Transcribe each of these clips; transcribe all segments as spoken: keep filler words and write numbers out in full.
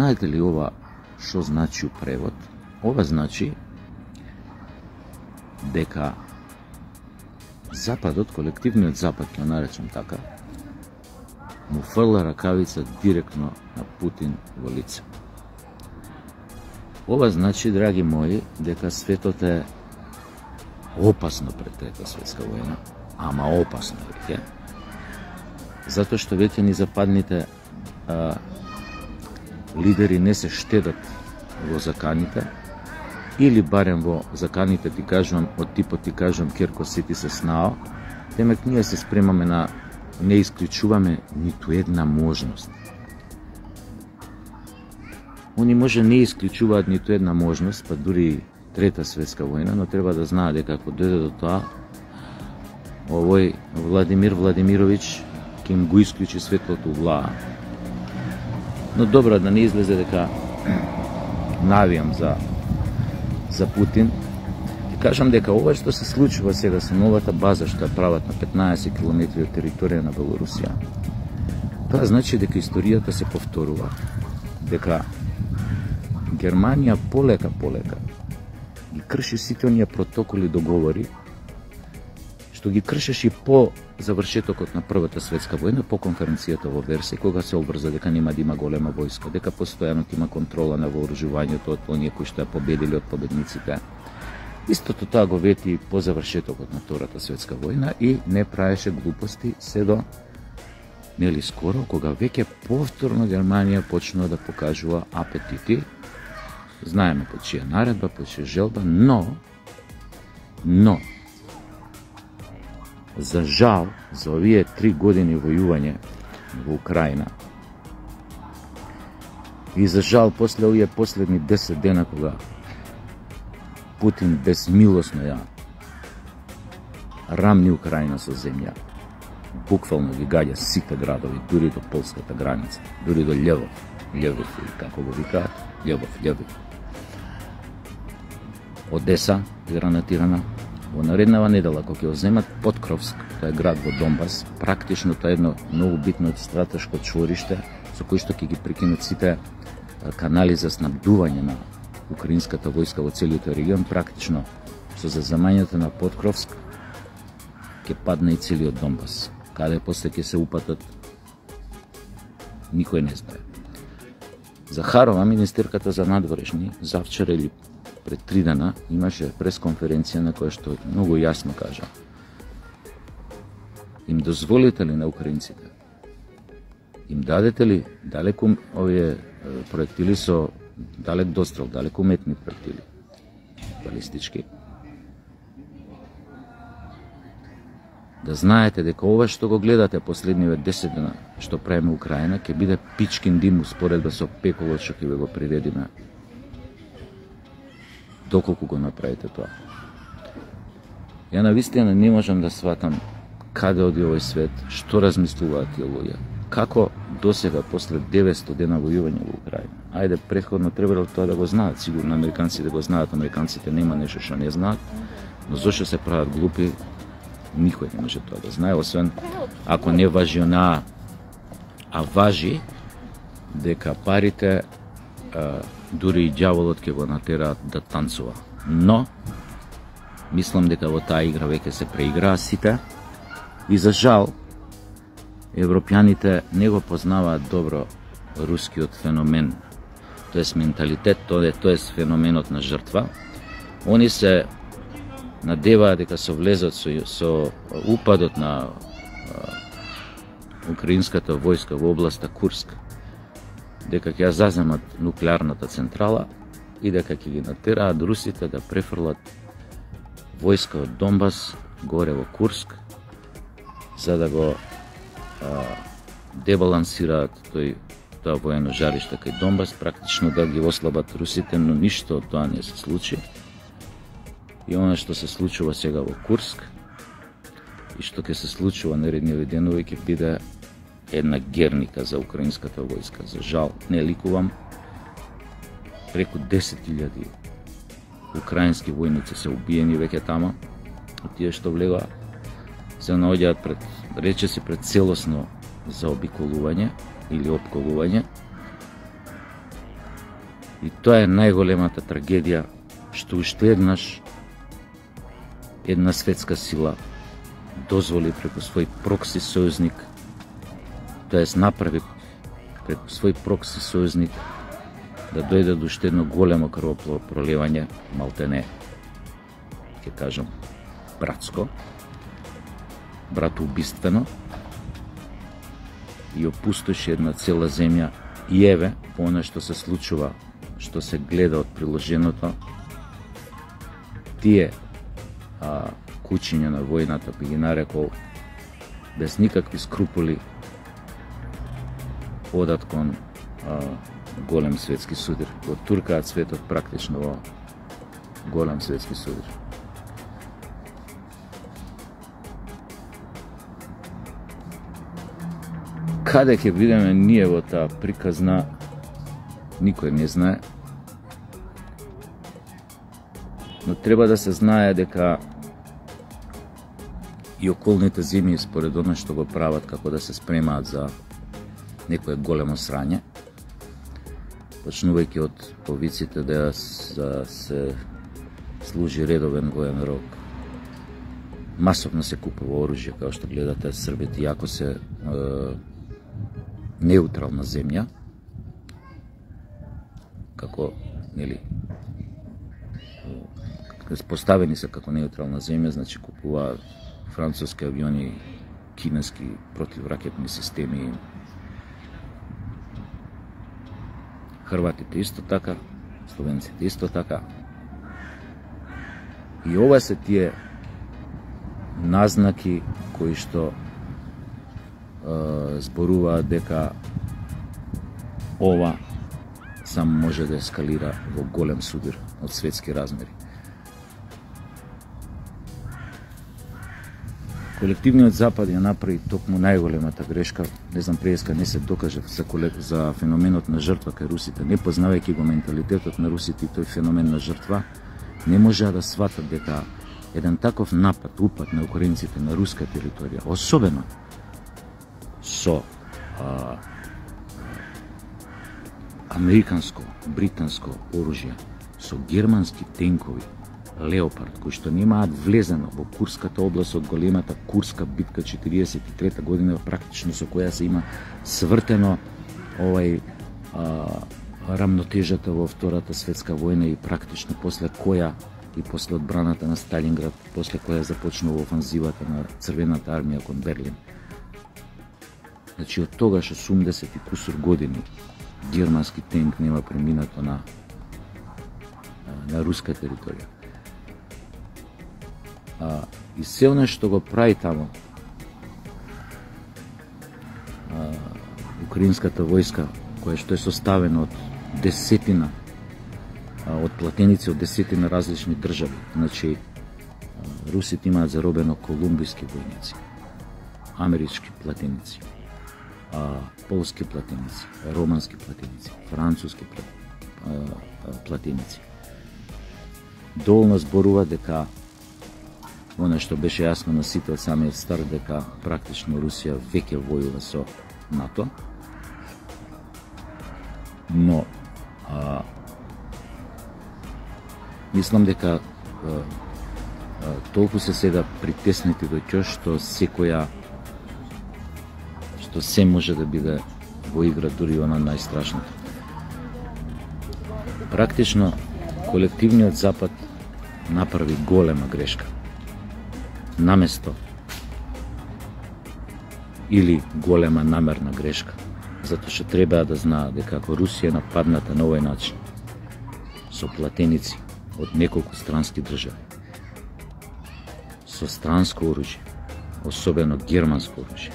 знаете ли ова што значи у превод? Ова значи дека Западот, колективниот Запад, ќе наречам така, му фрла ракавица директно на Путин во лице. Ова значи, драги мои, дека светот е опасно пред Трета светска војна, ама опасно веќе, затоа што веќе ни западните а, лидери не се штедат во заканите, или барем во заканите, ти кажувам, од типот ти кажувам Керко сети се снао, темек ние се спремаме на, не исклучуваме ниту една можност. Они може не исклучуваат ниту една можност, па дури Трета светска војна, но треба да знаат дека ако дојде до тоа, овој Владимир Владимирович ќе им го исклучи светлото влаа. Но добро, да не излезе дека навијам за за Путин. Ти кажам дека ова што се случува сега со новата база што ја прават на петнаесет километри од територија на Белорусија, тоа значи дека историјата се повторува, дека Германија полека полека ги крши сите оние протоколи, договори што ги кршеше по завршетокот на Првата светска војна, по конференцијата во Версај, кога се обврза дека нема да има голема војска, дека постојано има контрола на вооружувањето од оние кои што ја победили од победниците. Истото тоа го вети по завршетокот на Втората светска војна и не правеше глупости се до нели скоро, кога веќе повторно Германија почнува да покажува апетити. Знаеме по чија наредба, по чија желба, но но за жал, за овие три години војување во Украина и за жал после овие последни десет дена кога Путин безмилосно ја рамни Украина со земја, буквално ги гаѓа сите градови, дури до полската граница, дури до Лјевов, Лјевов или како го викаат, Лјевов, Лјевов. Одеса гранатирана. Во нареднава недела, кога ќе земат Подкровск, тоа е град во Донбас, практично тоа е едно многу битно стратешко чвориште со кој што ќе ги прекинат сите канали за снабдување на украинската војска во целиот регион, практично со заземањето на Подкровск ќе падне и целиот Донбас. Каде после ќе се упатат, никој не знае. Захарова, министерката за надворешни, завчера или пред три дена имаше пресконференција на која што многу јасно кажа: им дозволите ли на украинците, им дадете ли далеку овие проектили со далек дострел, далеку метни проектили, балистички, да знаете дека ова што го гледате последниве десет дена што правиме Украина ќе биде пичкин дим успоредба со пеколот што ќе го приредиме. Доколку го направите тоа. Ја навистина не можам да сватам каде оди овој свет, што размислуваат тие луѓе. Како досега после деветсто дена војување во Украина. Ајде, претходно требало тоа да го знаат, сигурно американците го знаат, американците нема нешто што не знаат, но зошто се прават глупи, никој не може тоа да знае, освен ако не важи онаа, а важи дека парите а, дури и ѓаволот ќе го натераат да танцува. Но мислам дека во таа игра веќе се преиграа сите и за жал европјаните не го познаваат добро рускиот феномен, тоест менталитет, тоест феноменот на жртва. Они се надеваат дека со влезот со, со упадот на а, украинската војска во областа Курск, дека ќе ја заземат нуклеарната централа и дека ќе ги натераат русите да префрлат војска од Донбас горе во Курск, за да го а, дебалансираат тој тоа воено жариште кај Донбас, практично да ги ослабат русите, но ништо од тоа не се случи. И она што се случува сега во Курск и што ќе се случува наредниве денови ќе биде една герника за украинската војска. За жал, не ликувам, преку десет илјади украински војници се убиени веќе тама, и тие што влегоа се наоѓаат пред, рече се пред целосно заобиколување или опколување. И тоа е најголемата трагедија, што уште еднаш една светска сила дозволи преку свој прокси сојузник, тоест направи преку свој прокси сојузник да дојде до уште едно големо крвопроливање, малтене, ќе кажам, братско, братоубиствено, и опустоши една цела земја. И еве, по она што се случува, што се гледа од приложеното, тие а, кучиња на војната, би ги нарекол, без никакви скрупули, одат кон а, голем светски судир. Го туркаат светот практично во голем светски судир. Каде ќе бидеме ние во таа приказна, никој не знае. Но треба да се знае дека и околните земји, според оно што го прават, како да се спремаат за некое големо срање, почнувајќи од повиците да се служи редовен воен рок. Масовно се купува оружје, како што гледате, србите, иако се е, неутрална земја, како, нели, поставени се како неутрална земја, значи купуваат француски авиони, кинески противракетни системи, хрватите исто така, словенците исто така. И ова се тие назнаки кои што е, зборуваат дека ова само може да ескалира во голем судир од светски размери. Колективниот Запад ја направи токму најголемата грешка. Не знам, преска не се докаже за, за феноменот на жртва кај русите, не познавајќи го менталитетот на русите и тој феномен на жртва, не можеа да сватат дека еден таков напад, упад на украинците на руска територија, особено со а, американско, британско оружје, со германски тенкови Леопард, кои што немаат влезено во Курската област од големата Курска битка четириесет и трета година, практично со која се има свртено овај а, рамнотежата во Втората светска војна и практично после која и после одбраната на Сталинград, после која започнува офанзивата на Црвената армија кон Берлин. Значи, од тогаш осумдесет и кусур години германски тенк нема преминато на, на руска територија. А, и се оно што го прави тамо а, украинската војска, која што е составена од десетина а, од платеници од десетина различни држави. Значи, а, русите имаат заробено колумбиски војници, амерички платеници, а, полски платеници, романски платеници, француски платеници. Доволно зборува дека оно што беше јасно на сите од самиот старт, дека практично Русија веќе војува со НАТО. Но а, мислам дека а, а, толку се сега притеснети до ќе што секоја што се може да биде во игра, дури она најстрашното. Практично колективниот Запад направи голема грешка. Наместо или голема намерна грешка, затоа што треба да знаат дека ако Русија нападната на овој начин со платеници од неколку странски држави, со странско оружје, особено германско оружје,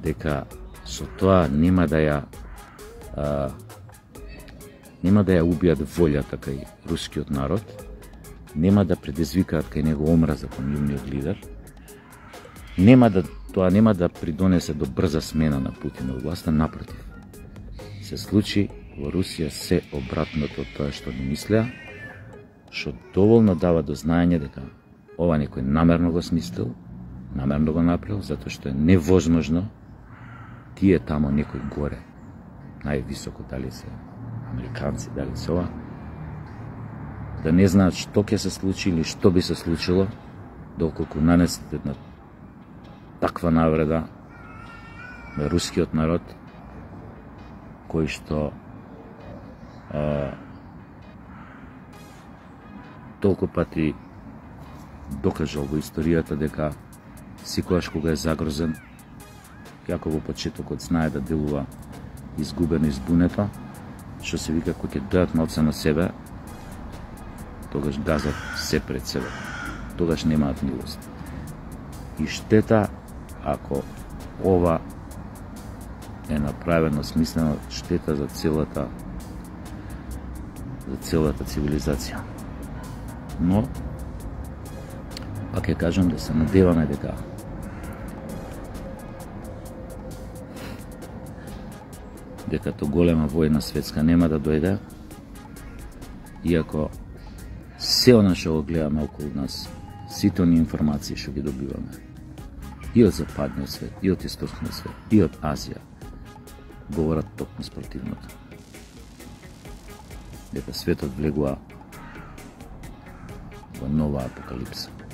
дека со тоа нема да ја а, нема да ја убијат волјата кај рускиот народ, нема да предизвикаат кај него омраза кон нивниот лидер, нема да, тоа нема да придонесе до брза смена на Путин во власта, напротив. Се случи во Русија се обратното од тоа што не мислеа, што доволно дава до знаење дека ова некој намерно го смислил, намерно го направил, затоа што е невозможно тие тамо некој горе, највисоко, дали се американци, дали се ова, да не знаат што ќе се случи или што би се случило, доколку нанесат една таква навреда на рускиот народ, кој што а, толку пати докажал во историјата дека секогаш кога е загрозен, јако во почетокот знае да делува изгубено и збунето, што се вика кој ќе дојат новца на себе, тогаш газат се пред себе. Тогаш немаат милост. И штета ако ова е направено смислено, штета за целата за целата цивилизација. Но пак ќе кажам да се надеваме дека дека то голема војна светска нема да дојде, иако се она што го гледаме околу нас, сите оние информации што ги добиваме, и од западниот свет, и од источниот свет, и од Азија, говорат токму спротивното. Дека светот влегува во нова апокалипса.